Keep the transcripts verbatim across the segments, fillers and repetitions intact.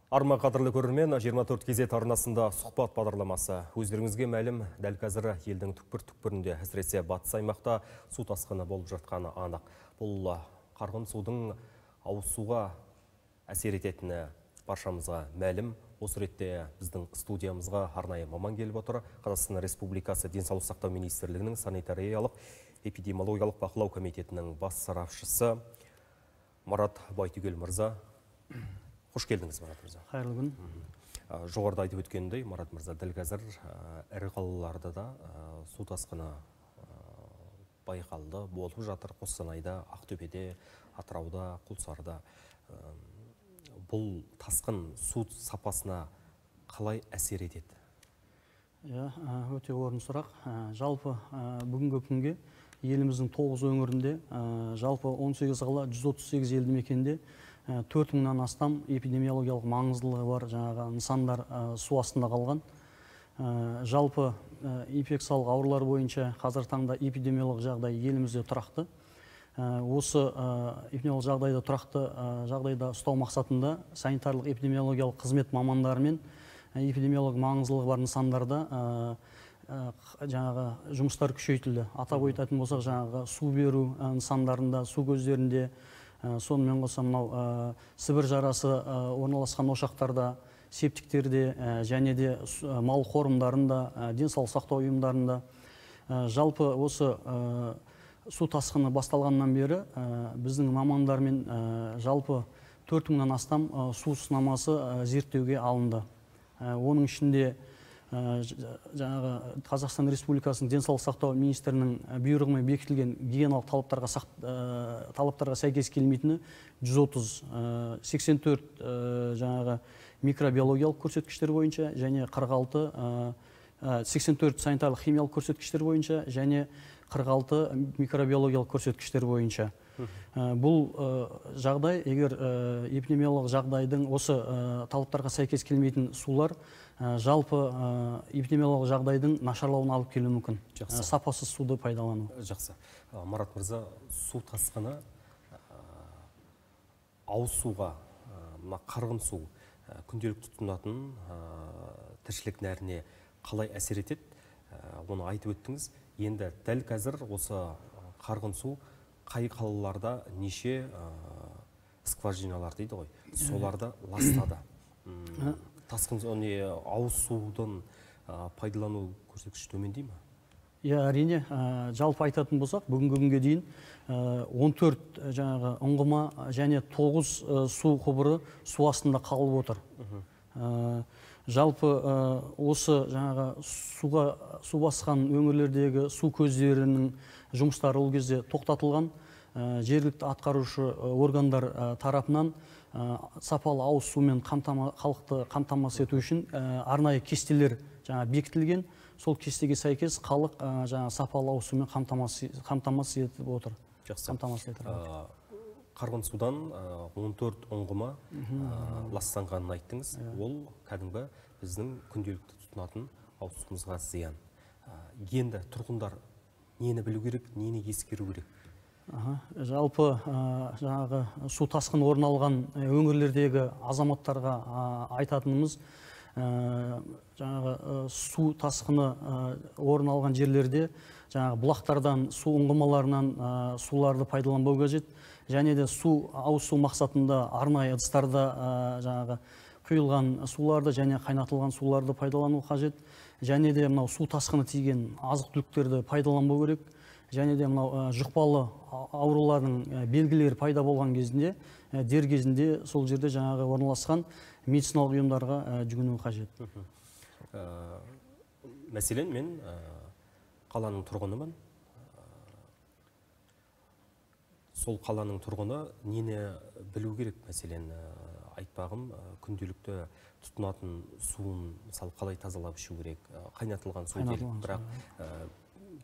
Арма қадірлі көрермен, жиырма төрт кезет арнасында сұхбат бағдарламасы. Өздеріңізге мәлім, дәл қазір елдің түкпір-түкпірінде, әсіресе батыс аймақта су тасқыны болып жатқаны анық. Бұл қарғын судың ауыз суға әсер ететіні баршамызға мәлім. Осы ретте біздің студиямызға арнайы маман келіп отыр. Қазақстан Республикасы Денсаулық сақтау министрлігінің санитариялық эпидемиологиялық бақылау комитетінің бас сарапшысы Марат Байтүгел мырза. Қош келдіңіз, Марат мырза. Қайырлы күн. Жоғарыда айтып өткендей, Марат мырза, дәл қазір ірі қалаларда да су тасқыны байқалды, болып жатыр. Қостанайда, Ақтөбеде, Атырауда, Құлсарда. Бұл тасқын су сапасына қалай әсер етеді? Өте орын сұрақ. Жалпы бүгінгі күнге еліміздің тоғыз өңірінде, жалпы он сегіз қала жүз отыз сегіз елді мекенде төрт мыңнан астам эпидемиологиялық маңыздылығы бар жаңағы нысандар су астында қалған. Жалпы инфекциялық аурулар бойынша қазір таңда эпидемиологиялық жағдай елімізде тұрақты. Осы эпидемиологиялық жағдайда тұрақты жағдайда ұстау мақсатында санитарлық эпидемиологиялық қызмет мамандарымен эпидемиологиялық маңыздылығы бар нысандарда жаңағы жұмыстар күшейтілді. Атап айтатын болсақ, жаңағы су беру нысандарында, су көздерінде, сонымен қоса мынау Сібір жарасы орналасқан ошақтарда, септиктерде және де мал қорымдарында, денсаулық сақтау ұйымдарында. Жалпы осы су тасқыны басталғаннан бері біздің мамандармен жалпы төрт мыңнан астам су сынамасы зерттеуге алынды. Оның ішінде жаңағы Қазақстан Республикасының денсаулық сақтау министрінің бұйрығымен бекітілген гигиеналық талаптарға талаптарға сәйкес келмейтіні жүз отыз, сексен төрт жаңағы микробиологиялық көрсеткіштер бойынша және қырық алты, сексен төрт санитарлық химиялық көрсеткіштер бойынша және қырық алты микробиологиялық көрсеткіштер бойынша. Бұл жағдай, егер эпидемиологиялық жағдайдың осы талаптарға сәйкес келмейтін сулар жалпы эпидемиологиялық жағдайдың нашарлауына алып келуі мүмкін. Сапасыз суды пайдалану. Жақсы. Марат мырза, су тасқыны ауыз суға, қарғын су, күнделікті тұтынатын тіршілік нәріне қалай әсер етеді? Оны айтып өттіңіз. Енді дәл қазір осы қарғын су қай қалаларда неше скважиналар дейді ғой, соларды ластады. Тасқын ауыз судың пайдалану көрсеткіші төмендей ме? Әрине, жалпы айтатын болсақ, бүгінгі күнге дейін он төрт жаңағы ұңғыма және тоғыз су құбыры су астында қалып отыр. Жалпы осы жаңағы суға су басқан өңірлердегі су көздерінің жұмыстары ол кезде тоқтатылған. Жергілікті атқарушы органдар тарапынан сапалы ауыз сумен халықты қамтамасыз ету үшін арнайы кестелер бекітілген. Сол кестеге сәйкес халық сапалы ауыз сумен қамтамасыз етіп отыр. Қарғын судан он төрт ұңғыма ластанғанын айттыңыз. Ол кәдімгі біздің күнделікті тұтынатын ауыз суымызға зиян. Енді тұрғындар нені білу керек, нені ескеру керек? Жалпы жаңағы су тасқын орын алған өңірлердегі азаматтарға айтатынымыз, жаңағы су тасқыны орын алған жерлерде жаңағы бұлақтардан, су ұңғымаларынан суларды пайдаланбау қажет. Және де су ауыз су мақсатында арнайы ыдыстарда жаңағы құйылған суларды және қайнатылған суларды пайдалану қажет. Және де мынау су тасқыны тиген азық-түліктерді пайдаланбау керек. Және де мынау жұқпалы аурулардың белгілері пайда болған кезінде, дер кезінде сол жерде жаңағы орналасқан медициналық ұйымдарға жүгіну қажет. Мәселен, мен қаланың тұрғынымын. Сол қаланың тұрғыны нені білу керек? Мәселен, айтпағым, күнделікті тұтынатын суын мысалы қалай тазалап ішу керек? Қайнатылған су делік, бірақ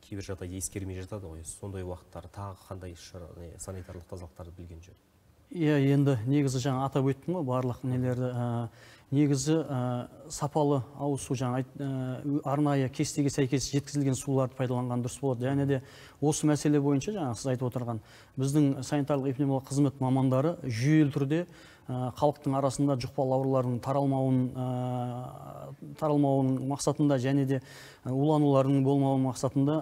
кейбір жағдайда ескермей жатады ғой. Сондай уақыттар тағы қандай санитарлық тазалықтарды білген жөн? Иә, енді негізі жаңа атап өттім ғой барлық нелерді. Негізі сапалы ауыз су, жаңа арнайы кестеге сәйкес жеткізілген суларды пайдаланған дұрыс болады. Және де осы мәселе бойынша жаңа сіз айтып отырған біздің санитарлық эпидемиологиялық қызмет мамандары жүйелі түрде халықтың арасында жұқпалы аурулардың таралмауын таралмауын мақсатында және де уланулардың болмауын мақсатында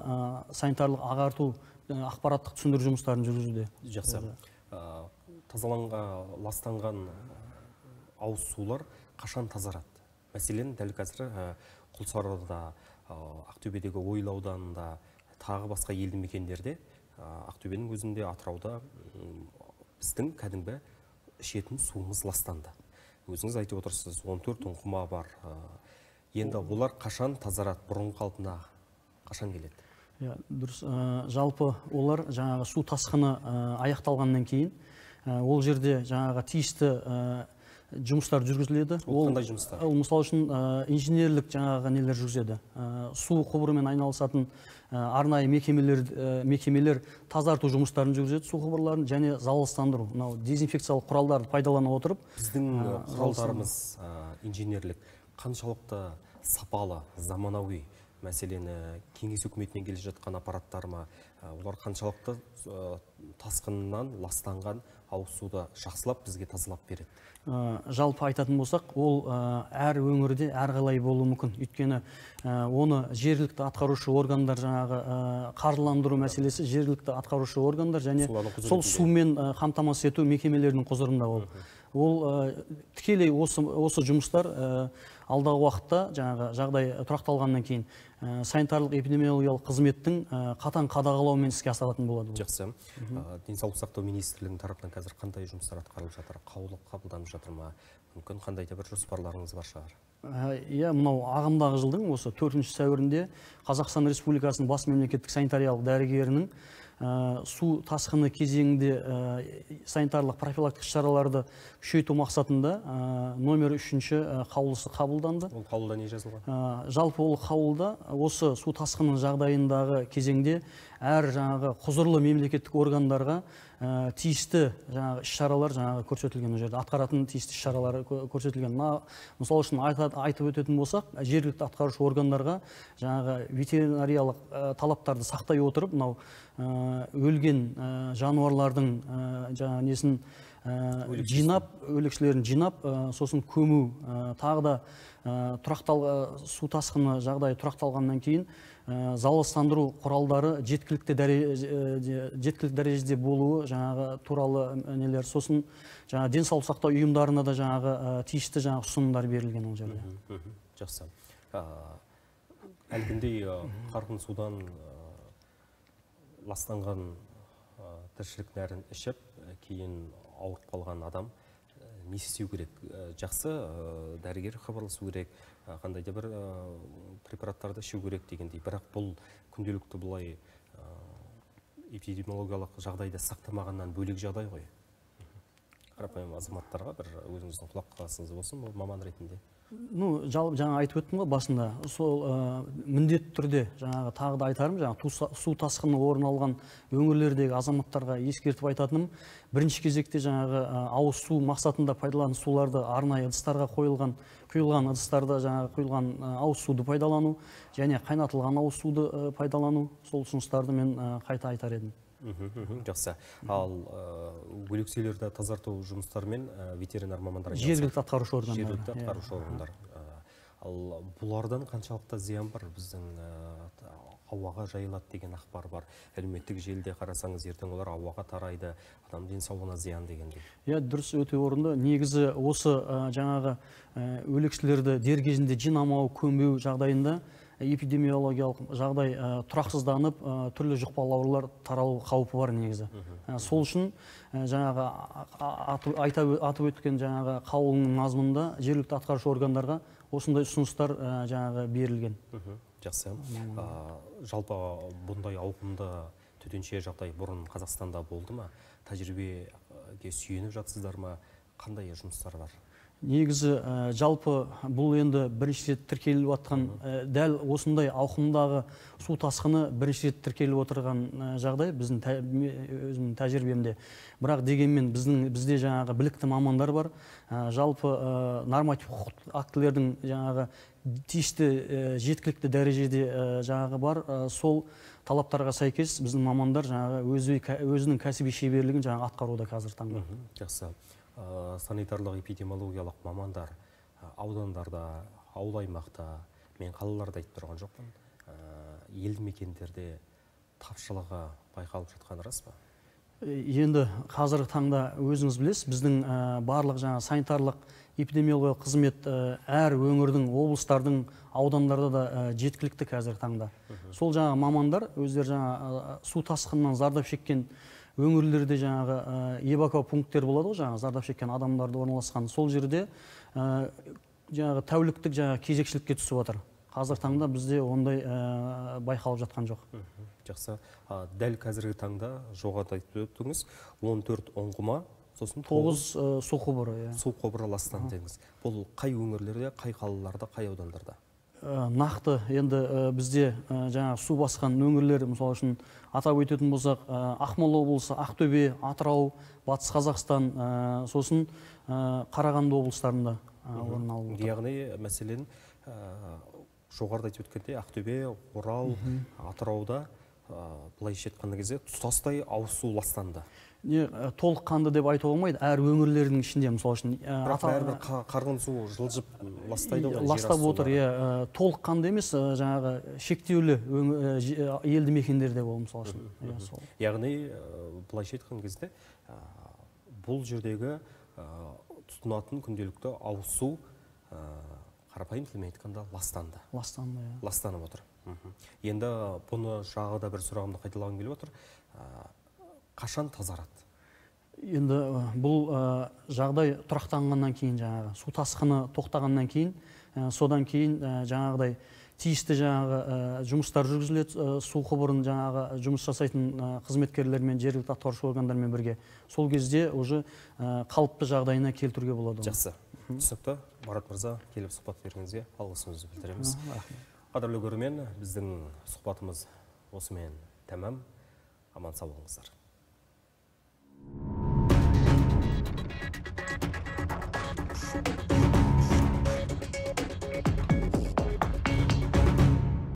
санитарлық ағарту ақпараттық түсіндіру жұмыстарын жүргізуде. Жақсы. Тазаланған, ластанған ауыз сулар қашан тазарады? Мәселен, дәл қазір Құлсарыда, Ақтөбедегі Ойыл ауданында, тағы басқа елді мекендерде, Ақтөбенің өзінде, Атырауда біздің кәдімгі ішетін суымыз ластанды. Өзіңіз айтып отырсыз, он төрт ұңғыма бар. Енді олар қашан тазарады, бұрын қалпына қашан келеді? Дұрыс. Жалпы олар жаңағы су тасқыны аяқталғаннан кейін ол жерде жаңағы тиісті жұмыстар жүргізіледі. Ол қандай жұмыстар? Ол мысалы үшін инженерлік жаңағы нелер жүргізеді. Су құбырымен айналысатын арнайы мекемелер тазарту жұмыстарын жүргізеді, су құбырларын және залалсыздандыру. Мынау дезинфекциялық құралдарды пайдалана отырып, біздің құралдарымыз инженерлік қаншалықты сапалы, заманауи? Мәселені кеңес үкіметінен келе жатқан аппараттар ма, олар қаншалықты тасқыннан ластанған ауыз суды жақсылап бізге тазалап береді? Жалпы айтатын болсақ, ол әр өңірде әрқалай болуы мүмкін. Өйткені оны жергілікті атқарушы органдар, жаңағы қаржыландыру мәселесі жергілікті атқарушы органдар және сол сумен қамтамасыз ету мекемелерінің құзырында ол. Ол тікелей осы жұмыстар алдағы уақытта жаңағы жағдай тұрақталғаннан кейін санитарлық эпидемиологиялық қызметтің қатаң қадағалауымен іске асыратын болады. Жақсы. Денсаулық сақтау министрлігінің тарапынан қазір қандай жұмыстар атқарылып жатыр? Қаулы қабылданып жатыр ма? Мүмкін қандай да бір жоспарларыңыз бар шығар? Иә, мынау ағымдағы жылдың осы төртінші сәуірінде Қазақстан Республикасының бас мемлекеттік санитариялық дәрігерінің су тасқыны кезеңінде санитарлық профилактикалық шараларды күшейту мақсатында номер үшінші қаулысы қабылданды. Ол қаулыда не жазылған? Жалпы ол қаулыда осы су тасқыны жағдайындағы кезеңде әр жаңағы құзырлы мемлекеттік органдарға тиісті жаңағы іс-шаралар жаңағы көрсетілген, ол жерде атқаратын тиісті іс-шаралары көрсетілген. Мысалы үшін айтып өтетін болсақ, жергілікті атқарушы органдарға жаңағы ветеринариялық талаптарды сақтай отырып, мынау өлген жануарлардың жаңағы несін жинап, өлекшілерін жинап, сосын көму, тағы да су тасқыны жағдайы тұрақталғаннан кейін залалсыздандыру құралдары жеткілікті дәрежеде болуы жаңағы туралы нелер. Сосын жаңағы денсаулық сақтау ұйымдарына да жаңағы тиісті жаңағы ұсынымдар берілген ол жерде. Жақсы. Әлгіндей қарғын судан ластанған тіршілік нәрін ішіп, кейін ауырып қалған адам не істеу керек? Жақсы дәрігер хабарласу керек, қандай да бір препараттарды ішу керек дегендей. Бірақ бұл күнделікті бұлай эпидемиологиялық жағдайды сақтамағаннан бөлек жағдай ғой. Қарапайым азаматтарға бір өзіңіздің құлақ қағасыңыз болсын, маман ретінде. Ну, жаңа айтып өттім ғой басында, сол міндетті түрде жаңағы тағы да айтарым, жаңағы су тасқыны орын алған өңірлердегі азаматтарға ескертіп айтатыным, бірінші кезекте жаңағы ауыз су мақсатында пайдаланатын суларды арнайы ыдыстарға қойылған, құйылған ыдыстарда жаңағы құйылған ауыз суды пайдалану және қайнатылған ауыз суды пайдалану, сол ұсыныстарды мен қайта айтар едім. Жақсы. Ал өлекселерді тазарту жұмыстарымен ветеринар мамандар жергілікті атқарушы органдар. Жергілікті атқарушы органдар. Ал бұлардан қаншалықты зиян бар? Біздің ауаға жайылады деген ақпар бар. Әлеуметтік желіде қарасаңыз, ертең олар ауаға тарайды, адам денсаулығына зиян дегендей. Иә, дұрыс, өте орынды. Негізі осы жаңағы өлекселерді дер кезінде жинамау, көмбеу жағдайында эпидемиологиялық жағдай тұрақсызданып, түрлі жұқпалы аурулар таралу қаупі бар негізі. Сол үшін жаңағы атып өткен жаңағы қаулының мазмұнында жергілікті атқарушы органдарға осындай ұсыныстар жаңағы берілген. Жақсы. Жалпы бұндай ауқымды төтенше жағдай бұрын Қазақстанда болды ма? Тәжірибеге сүйеніп жатсыздар ма? Қандай жұмыстар бар? Негізі жалпы бұл енді бірінші рет тіркеліп жатқан, дәл осындай ауқымдағы су тасқыны бірінші рет тіркеліп отырған жағдай біздің өзімнің тәжірибемде. Бірақ дегенмен біздің бізде жаңағы білікті мамандар бар. Жалпы норматив құқықтық актілердің жаңағы тиісті жеткілікті дәрежеде жаңағы бар. Сол талаптарға сәйкес біздің мамандар жаңағы өзінің кәсіби шеберлігін жаңағы атқаруда қазір таңда. Жақсы. Санитарлық эпидемиологиялық мамандар аудандарда, ауыл аймақта, мен қалаларда айтып тұрған жоқпын, елді мекендерде тапшылығы байқалып жатқаны рас па? Енді қазіргі таңда өзіңіз білесіз, біздің барлық жаңа санитарлық эпидемиологиялық қызмет әр өңірдің, облыстардың, аудандарда да жеткілікті қазіргі таңда. Сол жаңа мамандар өздері жаңа су тасқынынан зардап шеккен өңірлерде жаңағы эвакуа пункттер болады ғой, жаңағы зардап шеккен адамдарды орналасқан. Сол жерде жаңағы тәуліктік жаңағы кезекшілікке түсіп отыр. Қазір таңда бізде ондай байқалып жатқан жоқ. Жақсы. Дәл қазіргі таңда жоғарыда айтып өттіңіз, он төрт ұңғыма, сосын тоғыз су құбыры. Су құбыры ластанды дедіңіз. Бұл қай өңірлерде, қай қалаларда, қай аудандарда? Нақты енді бізде жаңа су басқан өңірлер, мысалы үшін атап өтетін болсақ, Ақмола облысы, Ақтөбе, Атырау, Батыс Қазақстан, сосын Қарағанды облыстарында орын алып отыр. Яғни мәселен жоғарыда айтып өткенде Ақтөбе, Орал, Атырауда былайша айтқан кезде тұтастай ауыз су ластанды. Толыққанды деп айтуға болмайды, әр өңірлердің ішінде, мысалы үшін. Бірақ бәрібір қарғын су жылжып ластайды ғой. Ластап отыр, толыққанды емес, жаңағы шектеулі елді мекендерде бол, мысалы үшін. Яғни былайша айтқан кезде бұл жердегі тұтынатын күнделікті ауыз су қарапайым тілмен айтқанда ластанды. Ластанды, иә. Ластанып отыр. Енді бұны жағы да бір сұрағымды қайталағым келіп отыр. Қашан тазарады? Енді бұл жағдай тұрақтанғаннан кейін, жаңағы су тасқыны тоқтағаннан кейін, содан кейін жаңағыдай тиісті жаңағы жұмыстар жүргізіледі, су құбырын жаңағы жұмыс жасайтын қызметкерлермен, жергілікті атқарушы органдармен бірге. Сол кезде уже қалыпты жағдайына келтіруге болады. Жақсы. Түсінікті. Марат мырза, келіп сұхбат бергеніңізге алғысымызды білдіреміз. Қадірлі көрермен, біздің сұхбатымыз осымен тәмам. Аман сау болыңыздар.